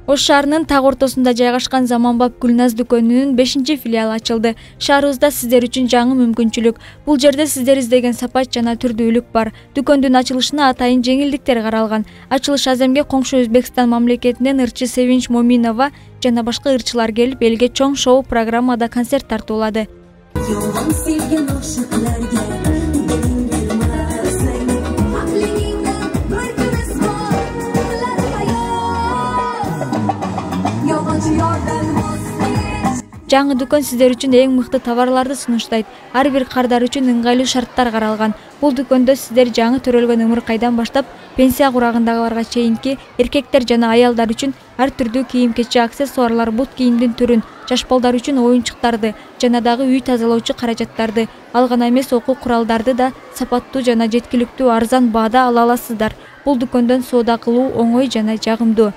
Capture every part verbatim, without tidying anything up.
Ош шаарынын так ортосунда жайгашкан Заманбап Гүлназ дүкөнүнүн бешинчи филиалы ачылды. Шаарыбызда сиздер үчүн жаңы мүмкүнчүлүк. Бул жерде сиздер издеген сапат жана түрдүүлүк бар. Дүкөндүн ачылышына атайын жеңилдиктер каралган. Ачылыш аземге коңшу Өзбекстан мамлекетинен ырчы Севинч Моминова жана башка ырчылар келип, элге чоң шоу программада концерт тартуулады. Жаңы дүкөн сиздер үчүн эң мыкты товарларды сунуштайт. Ар бир кардар үчүн ыңгайлуу шарттар каралган. Бул дүкөндө сиздер жаңы төрөлгөн ымыркайдан баштап пенсия курагындагыларга чейинки эркектер жана аялдар үчүн ар түрдүү кийим-кечек, аксессуарлар, бут кийимдин түрүн, жаш балдар үчүн оюнчуктарды жана дагы үй тазалоочу каражаттарды, ал гана эмес окуу куралдарды да сапаттуу жана жеткиликтүү арзан баада ала аласыздар. Бул дүкөндөн соода кылуу оңой жана жагымдуу.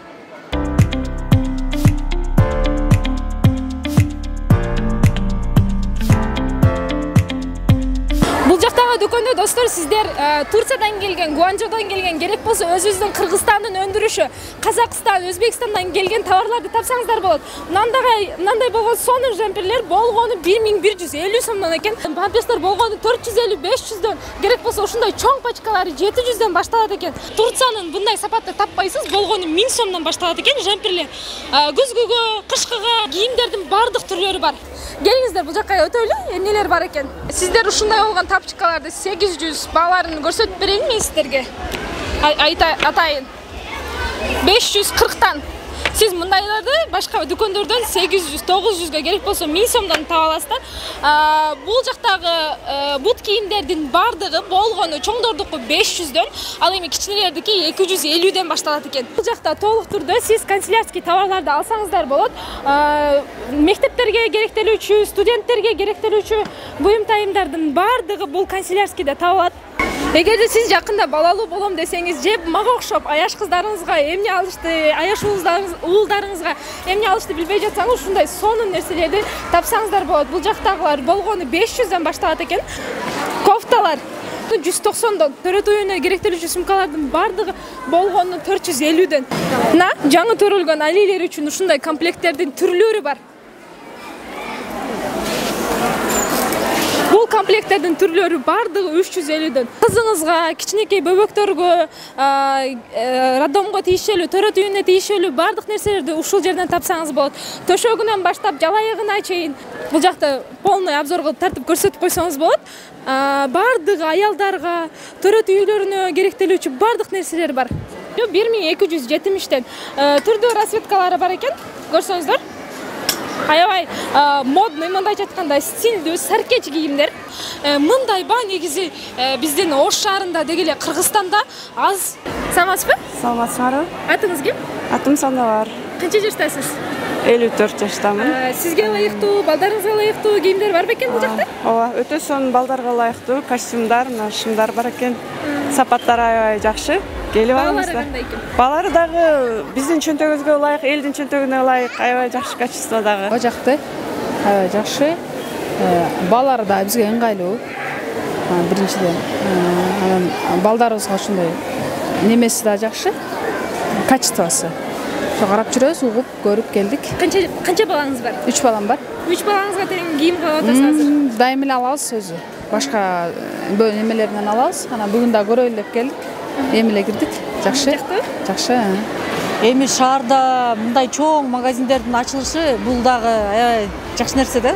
Дүкөндө достор сиздер Турциядан келген, Гуанчжоудон келген, керек болсо өзүбүздүн Кыргызстандын өндүрүшү, Казакстан, Өзбекстандан келген товарларды тапсаңыздар болот. Мынандай, мынандай болгон сонук жемпирлер болгону бир миң бир жүз элүү сомдон экен. Памперстер болгону төрт жүз элүү беш жүздөн, керек болсо ушундай чоң пачкалары жети жүздөн башталат экен. Турциянын bunday сапатты таппайсыз, болгону миң сомдон башталат экен жемпирлер. Күзгүгө, кышкыга кийимдердин бардык түрлөрү бар. Келиңиздер, бул жакка өтөлү, эмнелер бар экен. Сиздер ушундай болгон тапчыкаларды сегиз жүз бааларын көрсөтүп берейинби мен сиздерге? Атайын. беш жүз кырктан. Сиз мындайларды башка дүкөндөрдөн сегиз жүз, тогуз жүзгө, керек болсо миң сомдон таба аласыздар. Бул жактагы бут кийимдердин бардыгы болгону чоңдордуку беш жүздөн, ал эми кичинелердики эки жүз элүүдөн башталат экен. Бул жакта толук түрдө сиз канцелярский товарларды алсаңыздар болот. Мектептерге керектелүүчү, студенттерге керектелүүчү буюм-тайымдардын бардыгы бул канцелярскийде табылат. Эгерде сиз жакында балалуу болом десеңиз, же мага окшоп аяш кыздарыңызга эмне алышты, аяш уулдарыңызга эмне алышты билбей жатсаңыз, ушундай сонун нерселерди тапсаңыздар болот. Бул жактагылар болгону беш жүздөн башталат экен. Кофталар жүз токсондон, төрөт уюуна керектелүүчү сумкалардын бардыгы болгону төрт жүз элүүдөн. Мына жаңы төрөлгөн алилер үчүн ушундай комплекттердин түрлөрү бар. Бул комплекттердин түрлөрү бардыгы үч жүз элүүдөн. Кызыңызга, кичинекей бөбөктөргө, роддомго тийишелүү, төрөт үйүнө тийишелүү бардык нерселерди ушул жерден тапсаңыз болот. Төшөгүнөн баштап жалайыгына чейин бул жакта полный обзор кылып тартып көрсөтүп койсоңуз болот. Бардыгы аялдарга, төрөт үйлөрүнө керектелүүчү бардык нерселер бар. бир миң эки жүз жетимиштен түрдүү расцветкалары бар экен. Көрсөңүздөр. Аябай модный, мындайча айтканда стилдүү саркеч кийимдер. Мындай ба негизи биздин Ош шаарында деги эле Кыргызстанда аз. Саламатсызбы? Саламатсызбы. Атыңыз ким? Атым Сандабар. Канча жаштасыз? элүү төрт жаштамын. Сизге ылайыктуу, балдарыңызга ылайыктуу кийимдер бар бекен бул жакта? Ооба, өтө сонун балдарга ылайыктуу костюмдар, мына шымдар бар экен. Сапаттары аябай жакшы. Келип алыңыздар. Балары дагы биздин чөнтөгүбүзгө ылайык, элдин чөнтөгүнө ылайык, аябай жакшы качестводагы. Бул жакта аябай жакшы. Балары да бизге ыңгайлуу. Биринчиден, анан балдарыбызга ушундай немеси да жакшы. Качествосы. Карап жүрөбүз, угуп, көрүп келдик. Канча канча балаңыз бар? үч балам бар. үч балаңызга тең кийим калып атасыз азыр? Дайым эле алабыз өзү. Башка немелерден алабыз. Анан бүгүн да көрөлү деп келдик. Эми эле кирдик. Жакшы. Жакшы. Эми шаарда мындай чоң магазиндердин ачылышы бул дагы аябай жакшы нерсе да.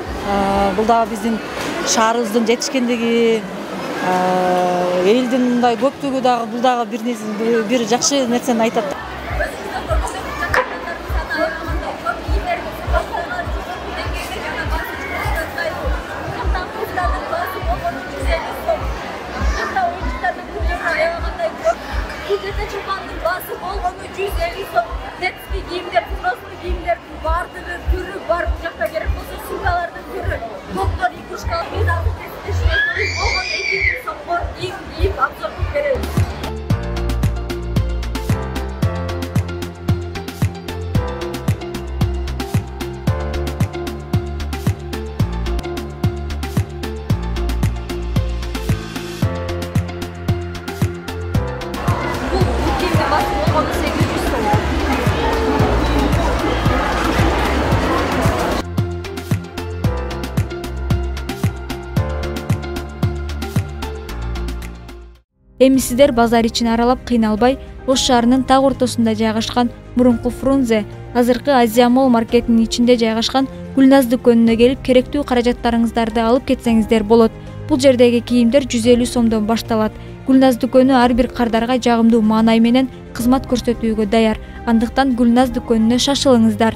Бул дагы биздин шаарыбыздын жетишкендиги, элдин мындай көптүгү дагы бул дагы бир бир жакшы нерсени айтат. Чулпандын баасы болгону жүз элүү сом. Детский кийимдер, взрослый кийимдердин бардыгы түрү бар. Бул жакта керек болсо сумкалардын түрү. Доктор игрушкалар, биз азыр тестешине болгону эки миң сомго кийим кийип обзор кылып беребиз. Эми сиздер базар ичин аралап кыйналбай, Ош шаарынын так ортосунда жайгашкан мурунку Фрунзе, азыркы Азия Молл маркетинин ичинде жайгашкан Гүлназ дүкөнүнө келип, керектүү каражаттарыңыздарды алып кетсеңиздер болот. Бул жердеги кийимдер жүз элүү сомдон башталат. Гүлназ дүкөнү ар бир кардарга жагымдуу маанай менен кызмат көрсөтүүгө даяр. Андыктан Гүлназ дүкөнүнө шашылыңыздар.